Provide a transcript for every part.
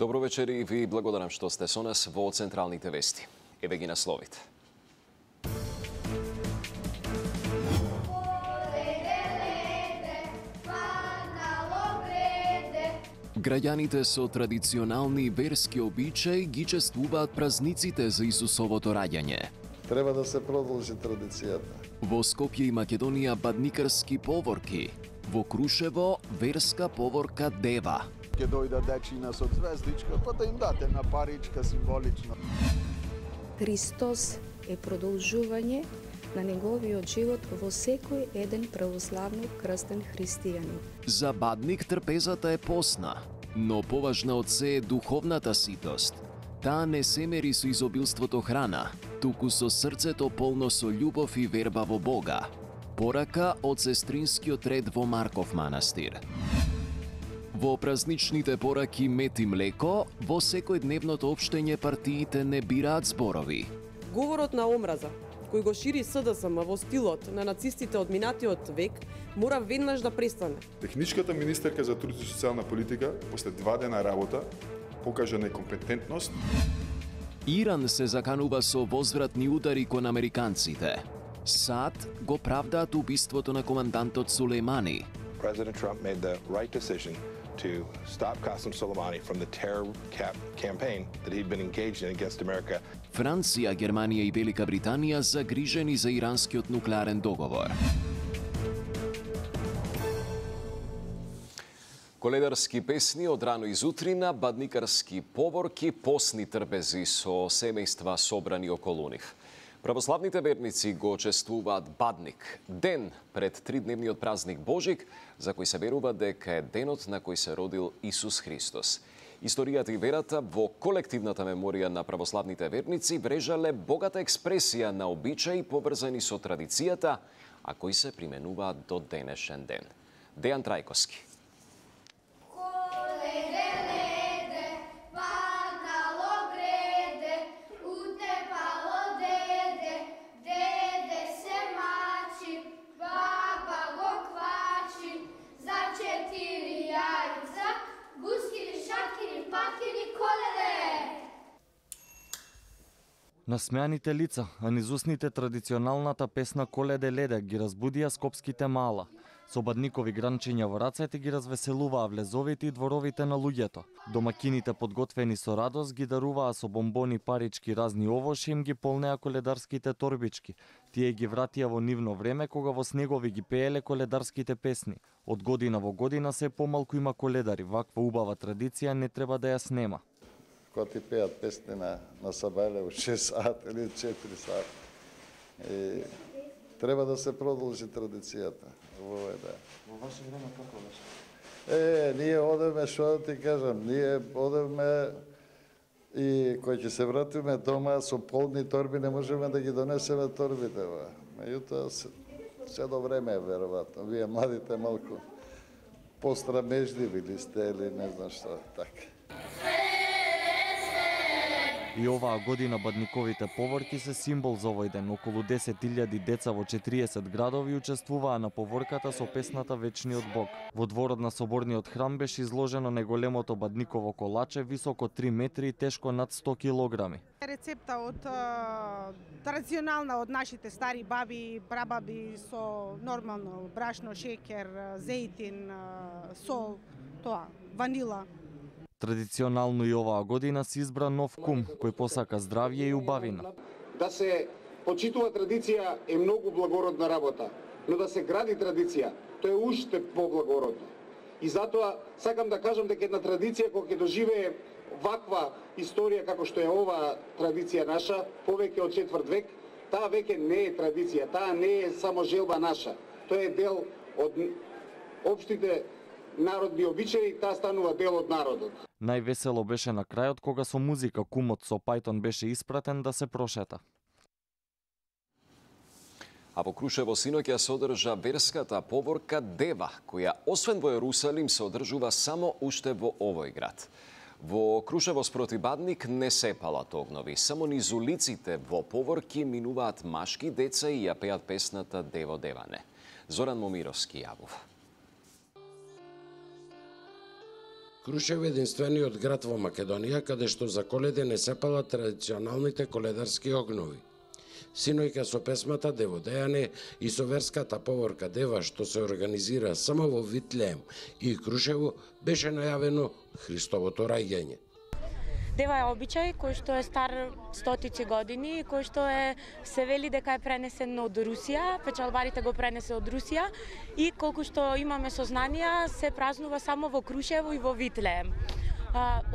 Добро вечер и ви благодарам што сте со нас во Централните вести. Еве ги насловите. Граѓаните со традиционални верски обичаи ги чествуваат празниците за Исусовото раѓање. Треба да се продолжи традицијата. Во Скопје и Македонија бадникарски поворки. Во Крушево верска поворка Дева. Ќе дојда дечина со звездичка, па да им дате на паричка символично. Христос е продолжување на неговиот живот во секој еден православно крстен христијанин. За бадник трпезата е посна, но поважна од се е духовната ситост. Таа не се мери со изобилството храна, туку со срцето полно со љубов и верба во Бога. Порака од сестринскиот ред во Марков манастир. Во празничните пораки мед и млеко, во секојдневното општење партиите не бираат зборови. Говорот на омраза, кој го шири СДСМ во стилот на нацистите од минатиот век, мора веднаш да престане. Техничката министерка за труд и социјална политика, после 2 дена работа, покажа некомпетентност. Иран се заканува со возвратни удари кон американците. САД го правдаат убиството на командантот Сулеймани. President Trump made the right decision to stop Qasem Soleimani from the terror campaign that he'd been engaged in against America. Франција, Германија и Велика Британија загрижени за иранскиот нуклеарен договор. Коледарски песни од рано изутрина, бадникарски поворки, посни трпези со семејства собрани околу нив. Православните верници го чествуваат Бадник, ден пред 3-дневниот празник Божик, за кој се верува дека е денот на кој се родил Исус Христос. Историјата и верата во колективната меморија на православните верници врежале богата експресија на обичаи поврзани со традицијата, а кои се применуваат до денешен ден. Дејан Трајковски. Насмеаните лица, а низ устните традиционалната песна Коледе леде ги разбудија скопските мала. Со бадникови гранчиња во рацете ги развеселуваа влезовите и дворовите на луѓето. Домакините подготвени со радост ги даруваа со бомбони, парички, разни овоши, им ги полнеа коледарските торбички. Тие ги вратија во нивно време кога во снегови ги пееле коледарските песни. Од година во година се помалку има коледари, ваква убава традиција не треба да ја снема. Кога ти пеат песни на Сабајле во 6 сат или 4 сат. И треба да се продолжи традицијата. Во ваше време како беше? Ние одевме, што да ти кажам, ние одевме и кој ќе се вратиме дома со полни торби, не можеме да ги донесеме торбите. Меѓутоа, се до време е веројатно. Вие младите малку пострамежливи ли сте или не знам што, така. И оваа година бадниковите поворки се символ за овој ден. Околу 10.000 деца во 40 градови учествуваа на поворката со песната Вечниот Бог. Во дворот на Соборниот храм беше изложено најголемото бадниково колаче, високо 3 метри и тешко над 100 килограми. Рецепта од традиционална од нашите стари баби, прабаби со нормално брашно, шеќер, зејтин, сол, тоа, ванила. Традиционално и оваа година се избра нов кум, кој посака здравје и убавина. Да се почитува традиција е многу благородна работа, но да се гради традиција, тоа е уште поблагородно. И затоа сакам да кажам дека една традиција која ќе доживее ваква историја како што е оваа традиција наша, повеќе од 4 век, таа веќе не е традиција, таа не е само желба наша. Тоа е дел од општите народни обичаи, таа станува дел од народот. Највесело беше на крајот кога со музика кумот со пајтон беше испратен да се прошета. А во Крушево синоќ ја содржа верската поворка Дева, која освен во Јерусалим се одржува само уште во овој град. Во Крушево спроти Бадник не се палат огнови, само низ улиците во поворки минуваат машки деца и ја пеат песната Дево Деване. Зоран Момировски јавува. Крушево е единствениот град во Македонија каде што за Коледа не се палат традиционалните коледарски огнови. Синојка со песмата Деводејане и со верската поворка Дева што се организира само во Витлеем и Крушево беше најавено Христовото раѓање. Дева е обичај кој што е стар стотици години, кој што се вели дека е пренесен од Русија, печалбарите го пренесе од Русија и колку што имаме сознанија се празнува само во Крушево и во Витлеем.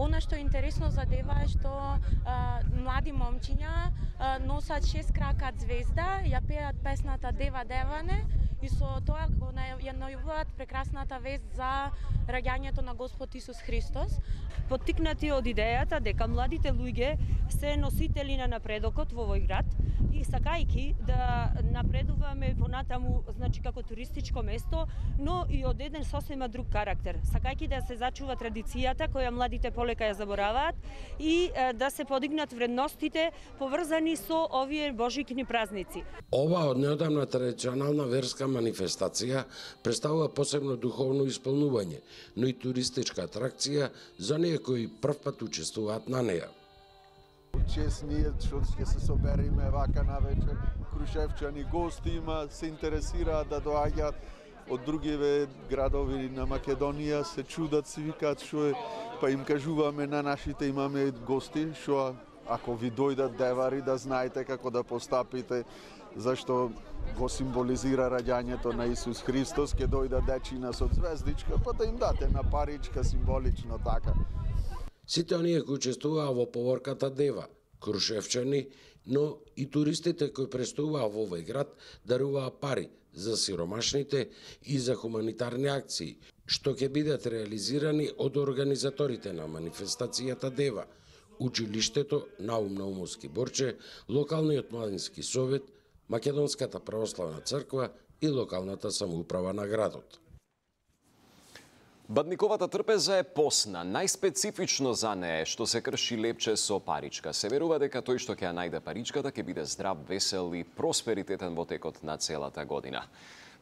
Она што е интересно за Дева е што млади момчиња носат 6 кракат звезда, ја пеат песната Дева Деване и со тоа го ја најавуваат прекрасната вест за раѓањето на Господ Исус Христос. Поттикнати од идејата дека младите луѓе се носители на напредокот во овој град и сакајки да напредуваме понатаму, значи како туристичко место, но и од еден сосема друг карактер. Сакајки да се зачува традицијата која младите полека ја забораваат и да се подигнат вредностите поврзани со овие божикни празници. Ова од неодамна традиционална верска манифестација представува посебно духовно исполнување, но и туристичка атракција за оние кои првпат учествуваат на неја. Чест ние што ќе се собериме вака на вечер. Крушевчани гости има, се интересираат да доаѓаат од другиве градови на Македонија, се чудат, си викаат што е, па им кажуваме на нашите имаме гости, што ако ви дојдат девари да знаете како да постапите, зашто го символизира раѓањето на Исус Христос, ќе дојда дечина со звездичка, па да им дате на паричка символично така. Сите оние кои учествуваа во поворката Дева, крушевчани, но и туристите кои престуваа во овој град даруваа пари за сиромашните и за хуманитарни акции, што ќе бидат реализирани од организаторите на манифестацијата Дева, училиштето Наум Наумовски Борче, локалниот младински совет, Македонската православна црква и локалната самоуправа на градот. Бадниковата трпеза е посна. Најспецифично за неја е што се крши лепче со паричка. Се верува дека тој што ќе ја најде паричката ќе биде здрав, весел и просперитетен во текот на целата година.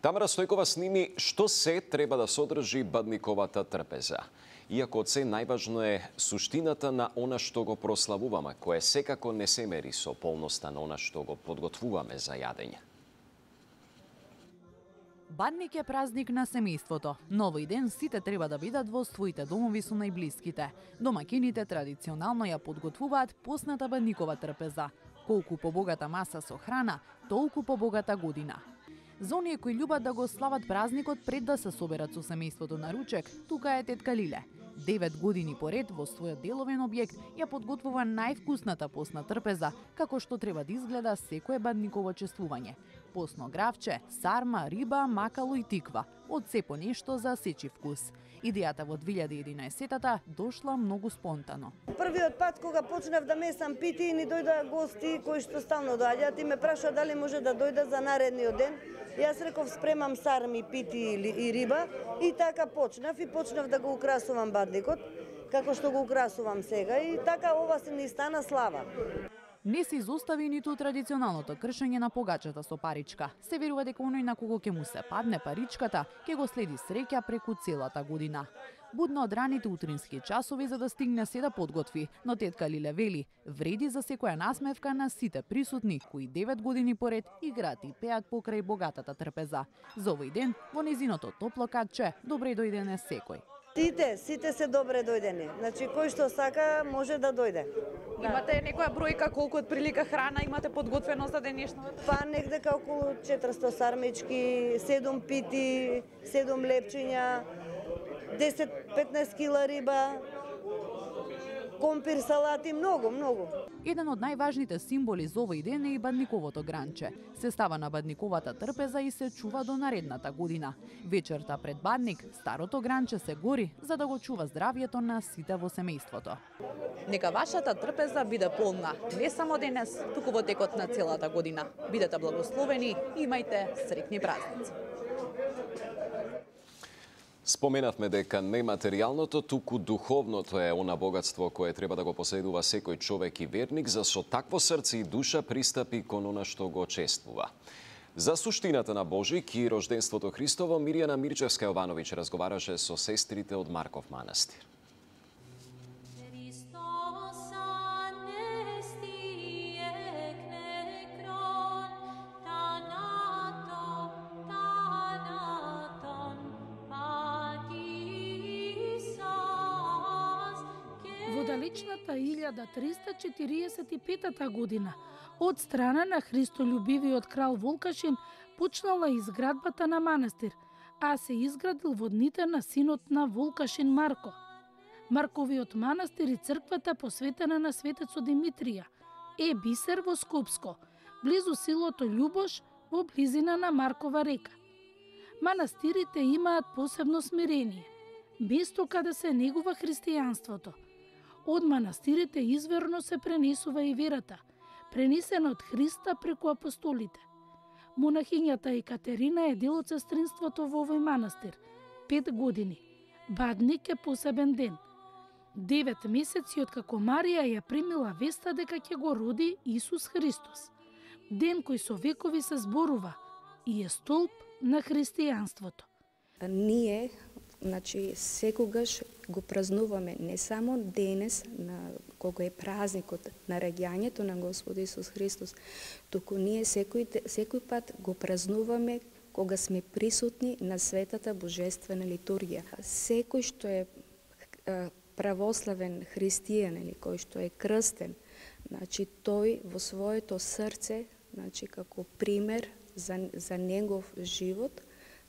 Тамара Стојкова сними што се треба да содржи бадниковата трпеза. Иако од се најважно е суштината на она што го прославуваме, кое секако не се мери со полноста на она што го подготвуваме за јадење. Бадник е празник на семејството. На овој ден сите треба да бидат во своите домови со најблиските. Домакините традиционално ја подготвуваат посната бадникова трпеза. Колку побогата маса со храна, толку побогата година. За оние кои љубат да го слават празникот пред да се соберат со семејството на ручек, тука е тетка Лиле. 9 години поред во својот деловен објект ја подготвува највкусната посна трпеза, како што треба да изгледа секое бадниково чествување. Посно гравче, сарма, риба, макало и тиква. Од се по нешто за сечи вкус. Идејата во 2011-та дошла многу спонтано. Првиот пат кога почнав да месам пити, ни дојдоа гости кои што стално доаѓаат и ме прашаа дали може да дојда за наредниот ден. Јас реков спремам сарми, пити и риба и така почнав да го украсувам бадникот, како што го украсувам сега и така ова се ни стана слава. Не се изостави ниту традиционалното кршење на погачата со паричка. Се верува дека оној на кого ќе му се падне паричката, ќе го следи среќа преку целата година. Будно од раните утрински часови за да стигне се да подготви, но тетка Лиле вели, вреди за секоја насмевка на сите присутни кои 9 години поред играат и пеат покрај богатата трпеза. За овој ден во незиното топло катче добре дојдене секој. Сите се добре дојдени. Значи кој што сака може да дојде. Имате некоја бројка колку од прилика храна имате подготвено за денешното? Па негдека околу 400 сармички, 7 пити, 7 лепчиња, 10-15 кила риба, компир, салати, многу. Еден од најважните символи за овој ден е и бадниковото гранче. Се става на бадниковата трпеза и се чува до наредната година. Вечерта пред бадник, старото гранче се гори за да го чува здравјето на сите во семејството. Нека вашата трпеза биде полна, не само денес, туку во текот на целата година. Бидете благословени и имајте среќни празници. Споменавме дека нематеријалното, туку духовното е она богатство кое треба да го поседува секој човек и верник, за со такво срце и душа пристапи кон она што го чествува. За суштината на Божик и рожденството Христово, Мирјана Мирчевска-Јовановиќ разговараше со сестрите од Марков манастир. далечната 1345 година од страна на христолюбивиот крал Волкашин почнала изградбата на манастир, а се изградил во дните на синот на Волкашин Марко. Марковиот манастир и црквата посветена на светецо Димитрија е бисер во Скопско, близу селото Љубош во близина на Маркова река. Манастирите имаат посебно смирение, место каде се негува христијанството. Од манастирите изверно се пренесува и верата, пренесена од Христа преку апостолите. Монахињата Екатерина е дел од сестринството во овој манастир. 5 години. Бадник е посебен ден. 9 месеци откако Марија ја примила веста дека ќе го роди Исус Христос. Ден кој со векови се зборува и е столб на христијанството. Ние, секогаш го празнуваме не само денес, кога е празникот на раѓањето на Господ Исус Христос, туку ние секој пат го празнуваме кога сме присутни на светата божествена литургија. Секој што е православен христијан или кој што е крстен, тој во своето срце, како пример за негов живот,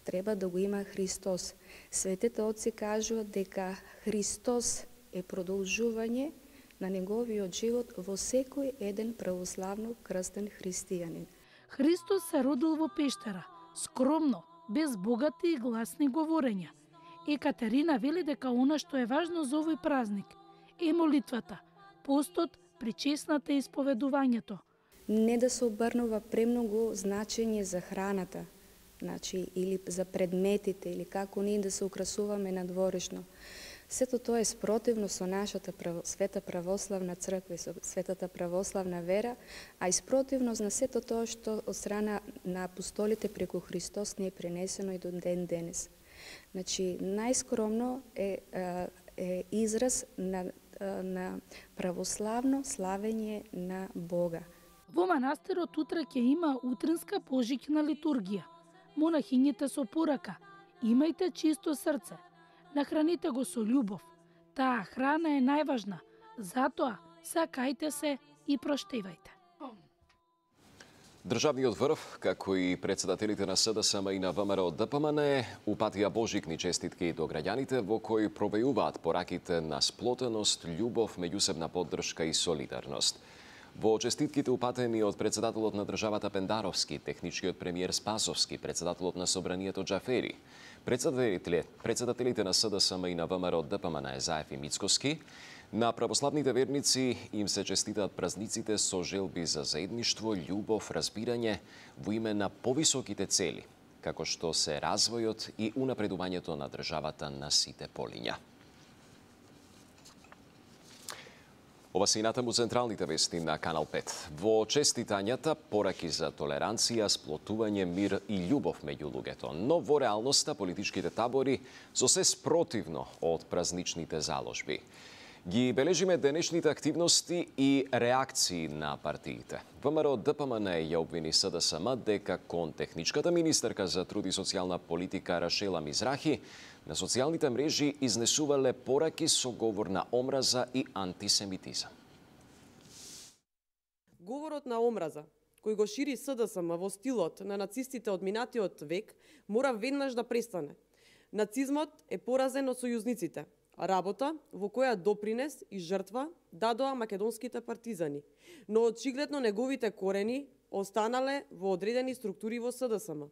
треба да го има Христос. Светите отци кажуваат дека Христос е продолжување на неговиот живот во секој еден православно крстен христијанин. Христос се родил во пештера, скромно, без богати и гласни говорења. Екатерина вели дека она што е важно за овој празник е молитвата, постот, причесната и исповедувањето. Не да се обрнува премногу значење за храната, или за предметите, или како ние да се украсуваме надворешно. Сето тоа е спротивно со нашата света православна црква и со светата православна вера, а и спротивно на сето тоа што од страна на апостолите преку Христос не е пренесено и до ден денес. Најскромно е израз на православно славење на Бога. Во манастирот утре ќе има утринска пожиќна литургија. Монахињите со порака: имајте чисто срце, нахраните го со љубов. Таа храна е најважна, затоа сакајте се и проштевајте. Државниот врв, како и председателите на СДСМ и на ВМРО ДПМН, упатија божикни честитки до граѓаните во кои провејуваат пораките на сплотеност, љубов, меѓусебна поддршка и солидарност. Во честитките упатени од председателот на државата Пендаровски, техничкиот премиер Спасовски, председателот на Собранието Џафери, председателите на СДСМ и на ВМРО ДПМН Заев и Мицкоски, на православните верници им се честитаат празниците со желби за заедништво, љубов, разбирање во име на повисоките цели, како што се развојот и унапредувањето на државата на сите полиња. Ова се и натаму централните вести на Канал 5. Во честитањата пораки за толеранција, сплотување, мир и љубов меѓу луѓето. Но во реалноста политичките табори со се спротивно од празничните заложби. Ги бележиме денешните активности и реакции на партиите. ВМРО ДПМН ја обвини СДСМ дека кон техничката министерка за труд и социјална политика Рашела Мизрахи на социјалните мрежи изнесувале пораки со говор на омраза и антисемитизам. Говорот на омраза, кој го шири СДСМ во стилот на нацистите од минатиот век, мора веднаш да престане. Нацизмот е поразен од сојузниците, работа во која допринес и жртва дадоа македонските партизани, но очигледно неговите корени останале во одредени структури во СДСМ.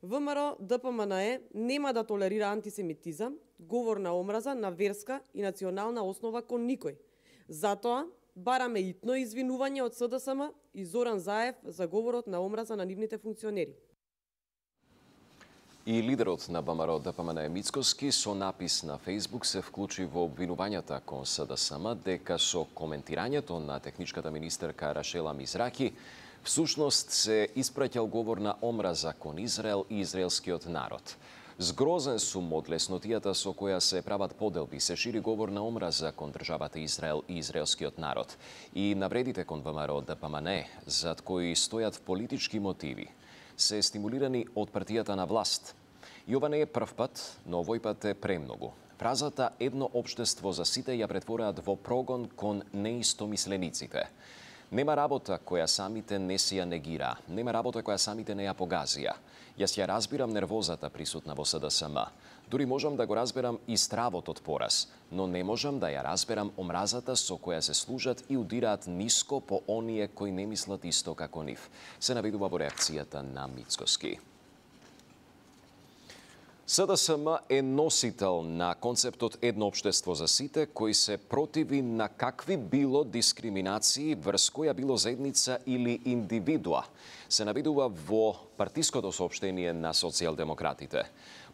ВМРО ДПМН нема да толерира антисемитизам, говор на омраза на верска и национална основа кон никој. Затоа бараме итно извинување од СДСМ и Зоран Заев за говорот на омраза на нивните функционери. И лидерот на ВМРО ДПМН Мицкоски со напис на Фејсбук се вклучи во обвинувањата кон СДСМ дека со коментирањето на техничката министерка Рашела Мизраки всушност се испраќал говор на омраза кон Израел и израелскиот народ. Згрозен сум од леснотијата со која се прават поделби, се шири говор на омраза кон државата Израел и израелскиот народ и навредите кон ВМРО ДПМН, зад кои стојат политички мотиви, се стимулирани од партијата на власт. И ова не е прв пат, но овој пат е премногу. Фразата «едно општество за сите» ја претвораат во прогон кон неистомислениците. Нема работа која самите не си ја негира, нема работа која самите не ја погазија. Јас ја разбирам нервозата присутна во СДСМ. Дури можам да го разберам и стравот од пораз, но не можам да ја разберам омразата со која се служат и удираат ниско по оние кои не мислат исто како нив. Се наведува во реакцијата на Мицкоски. СДСМ е носител на концептот едно општество за сите, кој се противи на какви било дискриминации врз која било заедница или индивидуа. Се наведува во партиското соопштение на социјалдемократите.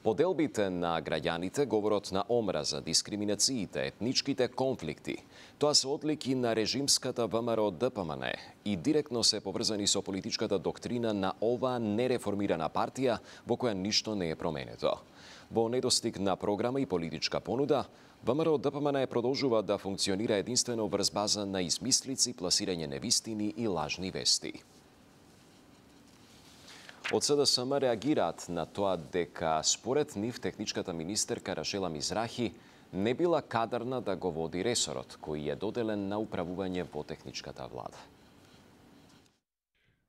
Поделбите на граѓаните, говорот на омраза, дискриминациите, етничките конфликти, тоа се одлики на режимската ВМРО ДПМН и директно се поврзани со политичката доктрина на оваа нереформирана партија во која ништо не е променето. Во недостиг на програма и политичка понуда, ВМРО ДПМН продолжува да функционира единствено врз база на измислици, пласирање невистини и лажни вести. Од СДСМ реагираат на тоа дека според нив техничката министерка Рашела Мизрахи не била кадарна да го води ресорот, кој е доделен на управување во техничката влада.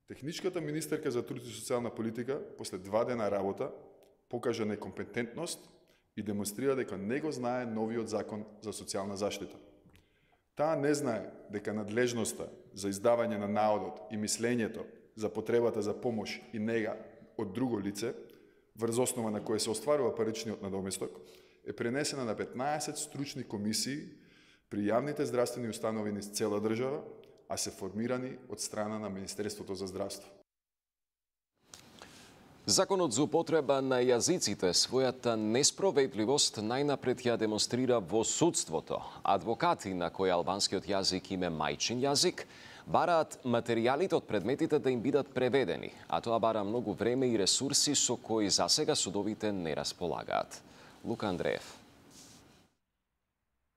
Техничката министерка за труд и социјална политика после 2 дена работа покажа некомпетентност и демонстрира дека не го знае новиот закон за социјална заштита. Таа не знае дека надлежноста за издавање на наодот и мислењето за потребата за помош и нега од друго лице, врз основа на која се остварува паричниот надоместок, е пренесена на 15 стручни комисии при јавните здравствени установи низ цела држава, а се формирани од страна на Министерството за здравство. Законот за употреба на јазиците својата неспроведливост најнапред ја демонстрира во судството. Адвокати на кои албанскиот јазик им е мајчин јазик, бараат материјалите од предметите да им бидат преведени, а тоа бара многу време и ресурси со кои засега судовите не располагаат. Лука Андреев.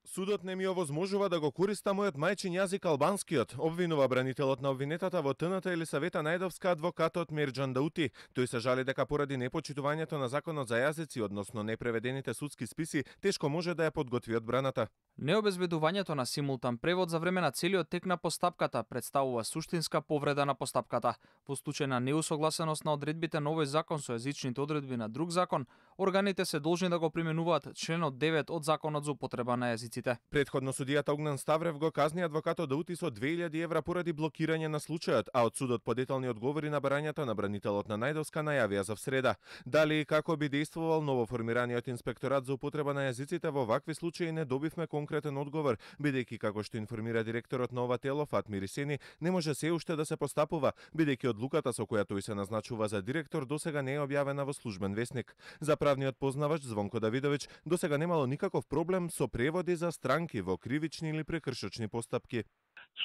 Судот не ми овозможува да го користа мојот мајчин јазик албанскиот, обвинува бранителот на обвинетата во ТНТ Елисавета Најдовска адвокатот Мерџан Даути. Тој се жали дека поради непочитувањето на законот за јазици, односно непреведените судски списи, тешко може да ја подготви одбраната. Необезбедувањето на симултан превод за време на целиот тек на постапката представува суштинска повреда на постапката. Во случај на неусогласеност на одредбите на овој закон со јазичните одредби на друг закон, органите се должни да го применуваат членот 9 од законот за употреба на јазиците. Предходно судијата Огнан Ставрев го казни адвокатот Даути со 2000 евра поради блокирање на случајот, а од судот по детални одговори на барањата на бранителот на Најдовска најавија за среда. Дали и како би действувал новоформираниот инспекторат за употреба на јазиците во вакви случаи не добивме конкретен одговор, бидејќи како што информира директорот на ова тело Фатмир Исени, не може се уште да се постапува, бидејќи одлуката со која тој се назначува за директор досега не е објавена во службен весник. За правниот познавач Звонко Давидовиќ, досега немало никаков проблем со преводи за странки во кривични или прекршочни постапки.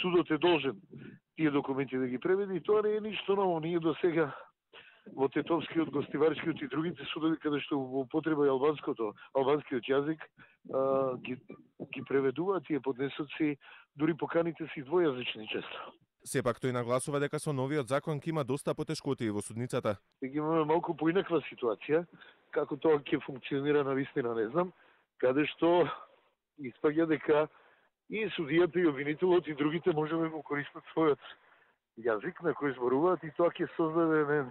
Судот е должен тие документи да ги преведи и тоа не е ништо ново. Ние досега во Тетовскиот, Гостиварскиот и другите судови каде што во употреба албанскиот јазик ги преведуваат тие поднесоци, дури поканите си двојазични често. Сепак тој нагласува дека со новиот закон ќе има доста потешкоти во судницата. Ќе имаме малку поинаква ситуација, како тоа ќе функционира навистина не знам, каде што испаѓа дека и судијата и обвинителот и другите може да го користат својот јазик на кој зборуваат и тоа ќе создаде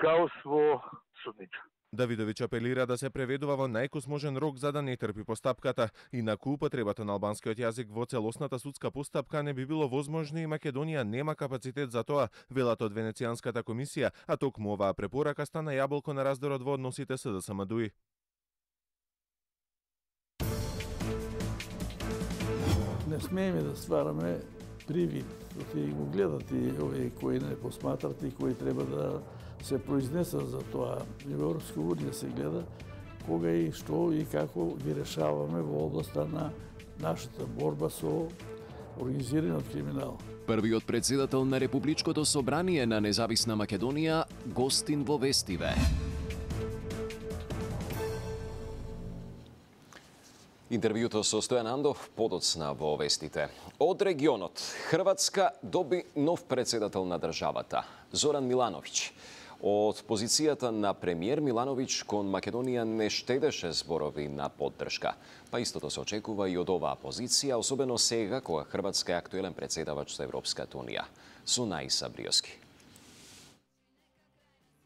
хаос во судница. Давидовиќ апелира да се преведува во најкосможен рок за да не трпи постапката. Инаку употребата на албанскиот јазик во целосната судска постапка не би било возможно и Македонија нема капацитет за тоа, велат од Венецијанската комисија, а токму оваа препорака стана јаболко на раздорот во односите СДСМ-ДУИ. Не смееме да ствараме привид, ќе го гледат и овие кои не посматрат и кои треба да се произнесат за тоа. И во Европска унија се гледа кога и што и како ги решаваме во областа на нашата борба со организираниот криминал. Првиот претседател на Републичкото собрание на Независна Македонија гостин во Вестиве. Интервјуто со Стојан Андов подоцна во вестите. Од регионот, Хрватска доби нов претседател на државата, Зоран Милановиќ. Од позицијата на премиер Милановиќ кон Македонија не штедеше зборови на поддршка. Па истото се очекува и од оваа позиција, особено сега кога Хрватска е актуелен председавач за Европската унија. Сунаиса Бриоски.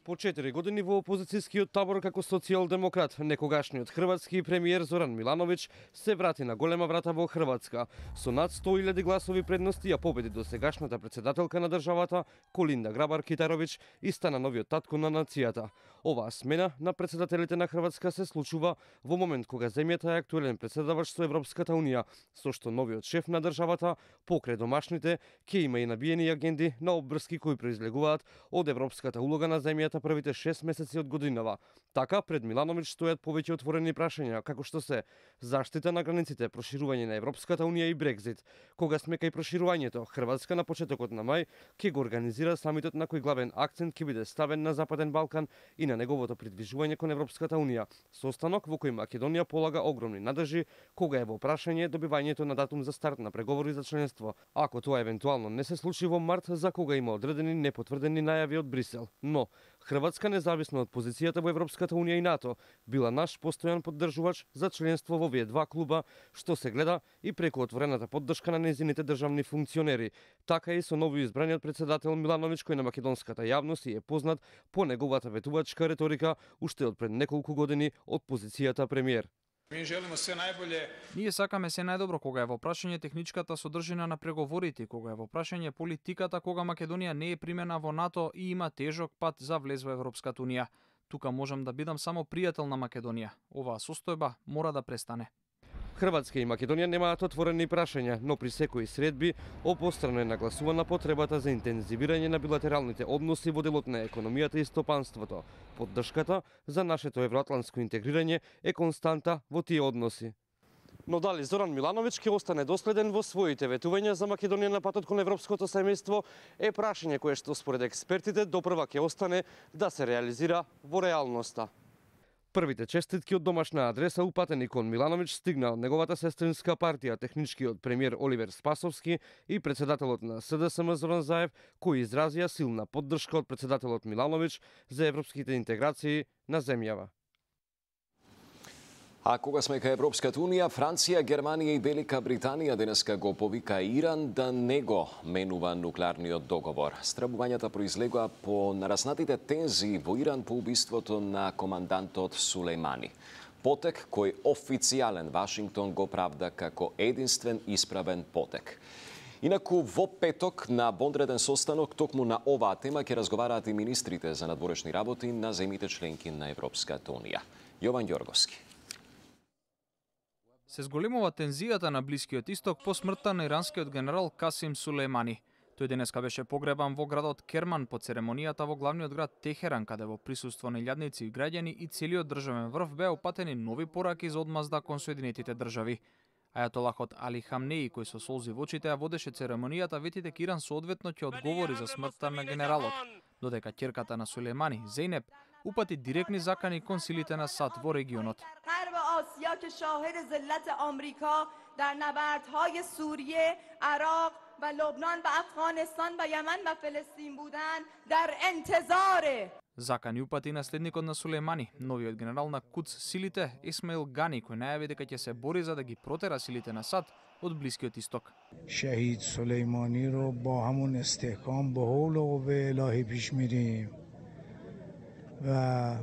По 4 години во опозицијскиот табор како социјалдемократ, некогашниот хрватски премиер Зоран Милановиќ се врати на голема врата во Хрватска. Со над 100.000 гласови предности ја победи досегашната председателка на државата Колинда Грабар-Китаровиќ и стана новиот татко на нацијата. Оваа смена на председателите на Хрватска се случува во момент кога земјата е актуелен председавач со Европската унија, со што новиот шеф на државата покрај домашните ќе има и набиени агенди на обврски кои произлегуваат од европската улога на земјата првите 6 месеци од годинава. Така, пред Милановиќ стојат повеќе отворени прашања, како што се заштита на границите, проширување на Европската унија и Брекзит. Кога сме кај проширувањето, Хрватска на почетокот на мај ќе го организира самитот на кој главен акцент ќе биде ставен на Западен Балкан и на неговото придвижување кон Европската унија. Состанок во кој Македонија полага огромни надежи кога е во прашање добивањето на датум за старт на преговори за членство. Ако тоа евентуално не се случи во март, за кога има одредени непотврдени најави од Брисел. Но Хрватска, независно од позицијата во Европската унија и НАТО, била наш постојан поддржувач за членство во овие два клуба, што се гледа и преку отворената поддршка на нејзините државни функционери. Така и со новоизбраниот председател Милановиќ, кој на македонската јавност е познат по неговата ветувачка реторика уште од пред неколку години од позицијата премиер. Ние сакаме се најдобро кога е во прашање техничката содржина на преговорите, кога е во прашање политиката, кога Македонија не е примена во НАТО и има тежок пат за влез во Европската унија. Тука можам да бидам само пријател на Македонија. Оваа состојба мора да престане. Хрватска и Македонија немаат отворени прашања, но при секои средби обострано е нагласувана потребата за интензивирање на билатералните односи во делот на економијата и стопанството. Поддршката за нашето евроатлантско интегрирање е константа во тие односи. Но дали Зоран Милановиќ ќе остане доследен во своите ветувања за Македонија на патот кон европското семејство е прашање кое што според експертите допрва ќе остане да се реализира во реалноста. Првите честитки од домашна адреса упатени кон Милановиќ стигна од неговата сестринска партија, техничкиот премиер Оливер Спасовски и председателот на СДСМ Зоран Заев, кои изразија силна поддршка од председателот Милановиќ за европските интеграции на земјава. А кога сме кај Европската унија, Франција, Германија и Велика Британија денеска го повика Иран да не го менува нуклеарниот договор. Страбувањата произлегоа по нараснатите тензии во Иран по убиството на командантот Сулејмани. Потек кој официјален Вашингтон го правда како единствен исправен потек. Инаку во петок на вонреден состанок токму на оваа тема ќе разговараат и министрите за надворешни работи на земјите членки на Европската унија. Јован Ѓорговски. Се зголемува тензијата на Блискиот исток по смртта на иранскиот генерал Касим Сулејмани. Тој денеска беше погребан во градот Керман по церемонијата во главниот град Техеран, каде во присуство на илјадници и граѓани и целиот државен врв беа упатени нови пораки за одмазда кон Соединетите држави. Ајатолахот Али Хамнеи, кој со солзи во очите ја водеше церемонијата, вети дека Иран соодветно ќе одговори за смртта на генералот, додека ќерката на Сулејмани, Зейнеп, упати директни закани кон силите на САД во регионот. آسیا که شاهد ذلت آمریکا در نبردهای سوریه، عراق و لبنان و افغانستان و یمن و فلسطین بودند در انتظار Закани упати наследникот на Сулејмани, новиот генерал на Кудс силите Исмаил Гани, кој најави дека ќе се бори за да ги протера силите на САД од Блискиот исток. شهید سلیمانی رو با همون استحکام به حول و قوه الهی پیش میریم و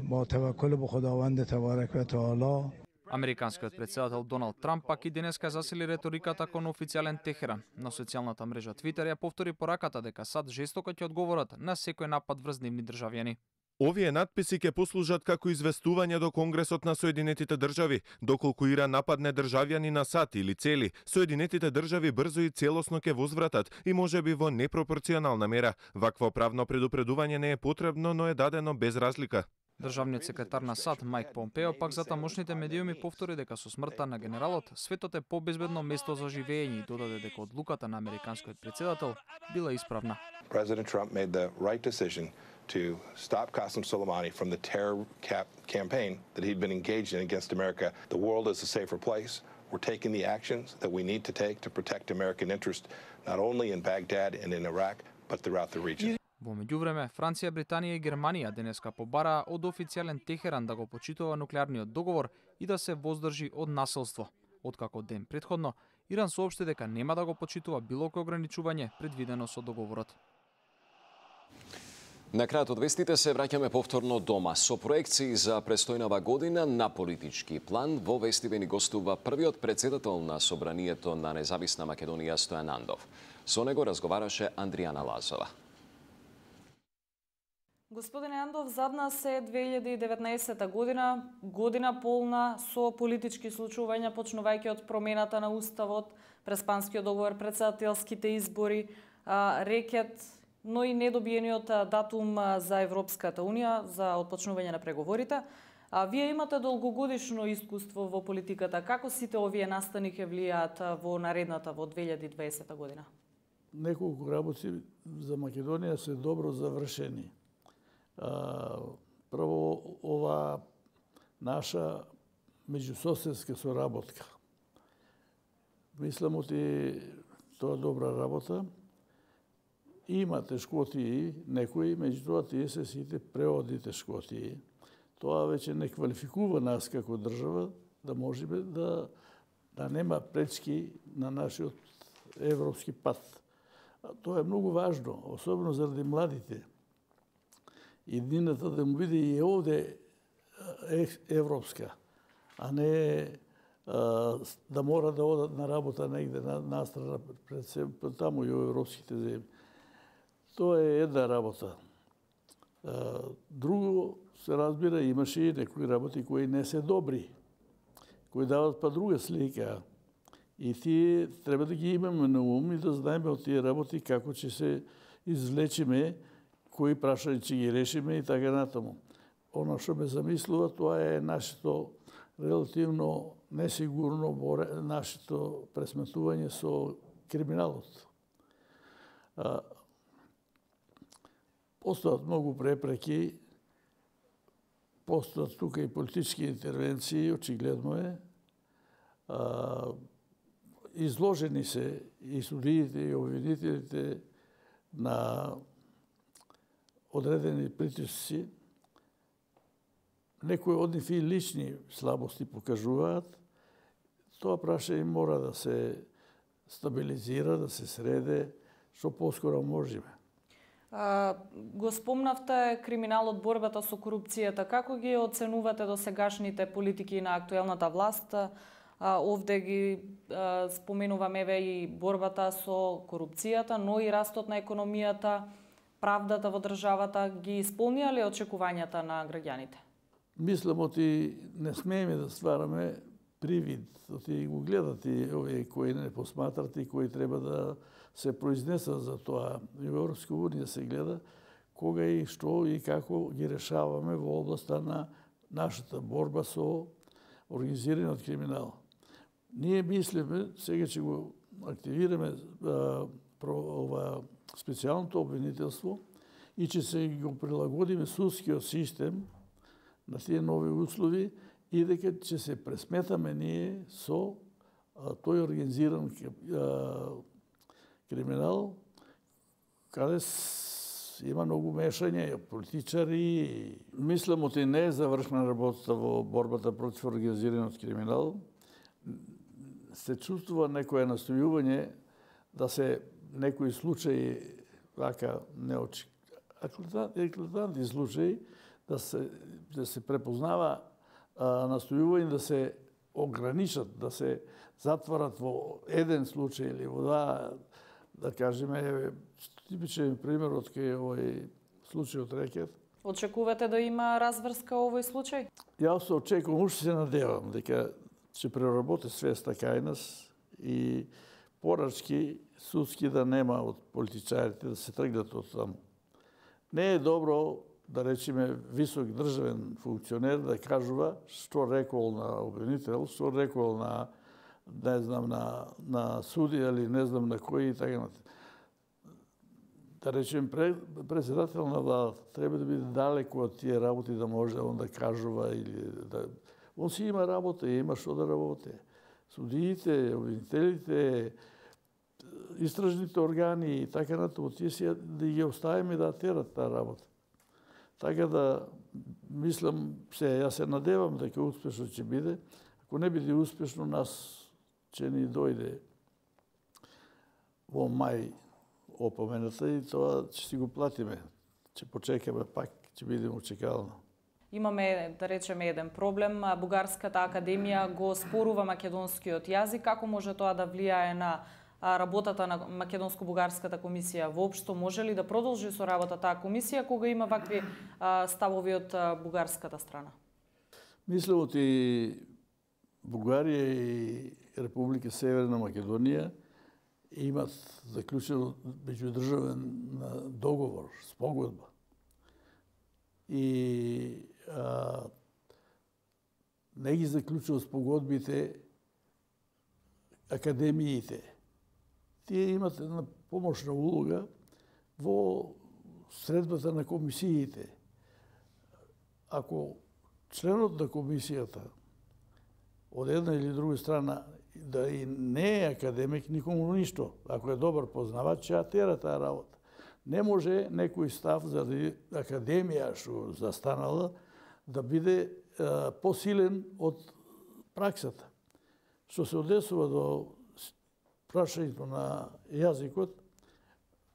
با توکل به خداوند تبارک و تعالی. Американскиот председател Доналд Трамп пак и денеска засили реториката кон официјален Техеран. На социјалната мрежа Твитер ја повтори пораката дека САД жестоко ќе одговорат на секој напад врз нивни државјани. Овие надписи ќе послужат како известување до Конгресот на Соединетите држави, доколку Иран нападне државјани на САД или цели, Соединетите држави брзо и целосно ќе возвратат и можеби во непропорционална мера. Вакво правно предупредување не е потребно, но е дадено без разлика. Државниот секретар на САД Мајк Помпео пак за тамошните медиуми повтори дека со смртта на генералот светот е побезбедно место за живење и додаде дека одлуката на американскиот председател била исправна. President Trump made the right decision to stop Qasem Soleimani from the terror campaign that he'd been engaged in against America. The world is a safer place. We're taking the actions that we need to take to protect American interest not only in Baghdad and in Iraq, but throughout the region. Во меѓувреме, Франција, Британија и Германија денеска побараа од официјален Техеран да го почитува нуклеарниот договор и да се воздржи од насилство. Откако ден претходно, Иран соопшти дека нема да го почитува било кој ограничување предвидено со договорот. На крајот од вестите се враќаме повторно дома. Со проекции за престојнава година на политички план во вестиве ни гостува првиот председател на Собранието на Независна Македонија Стојан Андов. Со него разговараше Андријана Лазова. Господине Андов, зад нас е 2019 година полна со политички случувања, почнувајќи од промената на Уставот, Преспанскиот договор, председателските избори, рекет, но и недобиениот датум за Европската Унија за отпочнување на преговорите. Вие имате долгогодишно искуство во политиката. Како сите овие настани ќе влијаат во наредната, во 2020 година? Неколку работи за Македонија се добро завршени. Прво, ова наша меѓусоседска соработка. Мислам оти тоа добра работа. Има тешкотии, некои, меѓутоа тие се сите преодни тешкотии. Тоа веќе не квалификува нас како држава да можеме да нема пречки на нашиот европски пат. Тоа е многу важно, особено заради младите. Иднината да му биде и овде европска, а не да мора да одат на работа негде настрана пред себе, таму и во европските земји. Тоа е една работа. Друго, се разбира, имаше и некои работи кои не се добри, кои дават па друга слика. И тие треба да ги имаме на ум и да знаеме од тие работи како ќе се извлечиме, кои прашања ќе ги решиме и така натаму. Оно што ме замислува, тоа е нашето релативно несигурно нашето пресметување со криминалот. Постојат многу препреки, постојат тука и политички интервенции, очигледно е. Изложени се и судиите и обвинителите на одредени притисци. Некои од нив и лични слабости покажуваат. Тоа прашање мора да се стабилизира, да се среде, што поскоро можеме. Го спомнавте криминалот, борбата со корупцијата. Како ги оценувате досегашните политики на актуелната власт? Овде ги споменувам еве и борбата со корупцијата, но и растот на економијата, правдата во државата. Ги исполнија ли очекувањата на граѓаните? Мислам, оти не смееме да ствараме привид. Оти го гледат и овие кои не посматрат и кои треба да се произнесат за тоа. И во Европска Унија се гледа кога и што и како ги решаваме во областа на нашата борба со организираниот криминал. Ние мислиме, сега ќе го активираме ова специјалното обвинителство и ќе се го прилагодиме судскиот систем на тие нови услови и дека ќе се пресметаме ние со тој организиран криминал, каде има многу мешање, политичари. Мислам, оти не е завршна работата во борбата против организираниот криминал. Се чувствува некое настојување да се некои случаи вака еклатантни случаи да се препознава настојување да се ограничат, да се затворат во еден случај или во два, да кажеме, типичен пример од кај овој случај од рекет. Очекувате да има разврска овој случај? Јас се очекувам, уште се надевам дека ќе проработи свеста кај нас и порачки судски да нема од политичарите да се тргнат од таму. Не е добро да речеме висок државен функционер да кажува што рекол на обвинител, што рекол на не знам на судија или не знам на кој и така натаму. Да речем председател на владата треба да биде далеку од тие работи да може он да кажува или да он си има работа и има што да работи. Судиите, обвинителите, истражните органи и така натаму, тие си да ги оставиме да терат таа работа. Така да, мислам, јас се надевам дека успешно ќе биде. Ако не биде успешно, нас ќе ни дојде во мај опомената и тоа ќе си го платиме. Ќе почекаме пак, ќе бидеме очекално. Имаме, да речеме, еден проблем. Бугарската академија го спорува македонскиот јазик. Како може тоа да влијае на работата на Македонско-бугарската комисија? Воопшто може ли да продолжи со работа таа комисија кога има вакви ставови од бугарската страна? Мислам, оти Бугарија и Република Северна Македонија имат заклучен меѓудржавен договор, спогодба. И не ги заклучува спогодбите академиите. Тие имат една помошна улога во средбата на комисиите. Ако членот на комисијата од една или друга страна да и не е академик, никому ништо. Ако е добар познавач, ќе тера таа работа. Не може некој став заради академија што застанала да биде посилен од праксата. Што се однесува до прашањето на јазикот,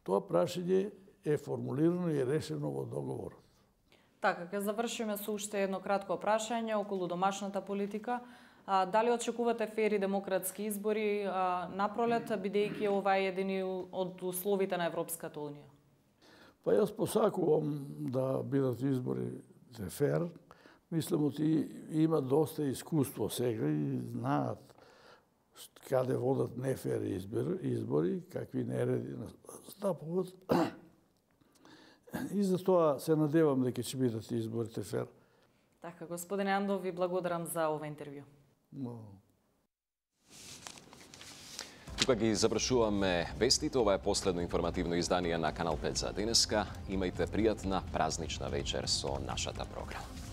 тоа прашање е формулирано и решено во договорот. Така, ќе завршиме со уште едно кратко прашање околу домашната политика. Дали очекувате фери демократски избори напролет, бидејќи ова е едини од условите на Европската унија? Па јас посакувам да бидат изборите фер. Мислам, че има доста искуство сега и знаат каде водат нефер избори, какви нереди настапуват. И за тоа се надевам дека ќе бидат изборите фер. Така, господине Андов, ви благодарам за ова интервју. Тука ги завршуваме вестите. Ова е последно информативно издание на Канал 5 за денеска. Имајте пријатна празнична вечер со нашата програма.